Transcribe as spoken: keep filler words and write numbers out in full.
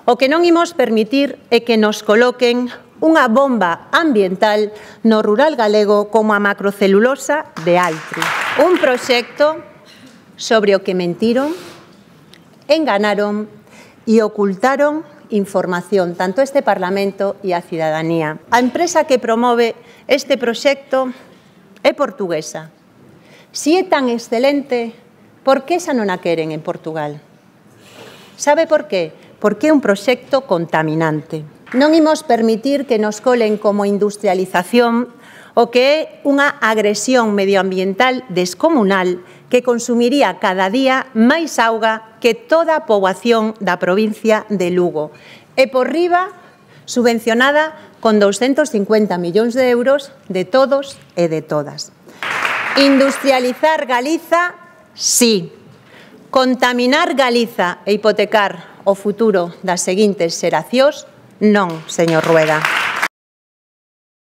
O que non imos permitir é que nos coloquen unha bomba ambiental no rural galego como a macrocelulosa de Altri. Un proxecto sobre o que mentiron, enganaron e ocultaron información, tanto este Parlamento e a cidadanía. A empresa que promove este proxecto é portuguesa. Si é tan excelente, por que esa non a queren en Portugal? Sabe por qué? Porque é un proxecto contaminante. Non imos permitir que nos colen como industrialización o que é unha agresión medioambiental descomunal que consumiría cada día máis auga que toda a poboación da provincia de Lugo. E por riba, subvencionada con douscentos cincuenta millóns de euros de todos e de todas. Industrializar Galiza, sí. Contaminar Galiza e hipotecar o futuro das seguintes xeracións, non, señor Rueda.